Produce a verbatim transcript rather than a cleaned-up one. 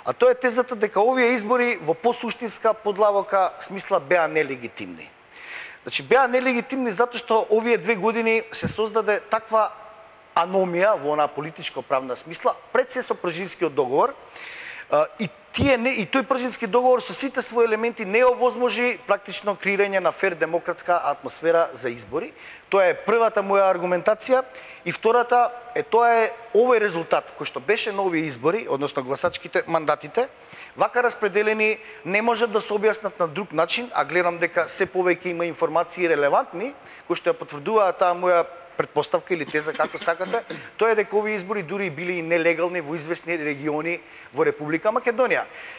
А тоа е тезата дека овие избори во посуштинска подлабока смисла беа нелегитимни. Значи беа нелегитимни затоа што овие две години се создаде таква аномија во онаа политичко-правна смисла пред се со Пржинскиот договор и тие не, и тој Пржински договор со сите своји елементи не овозможи практично креирање на фер демократска атмосфера за избори. Тоа е првата моја аргументација и втората е тоа е овој резултат кој што беше на овие избори, односно гласачките мандатите, вака распределени не можат да се објаснат на друг начин, а гледам дека се повеќе има информации релевантни кои што ја потврдуваат таа моја предпоставка или теза, како сакате, тоа е дека овие избори дури били и нелегални во известни региони во Република Македонија.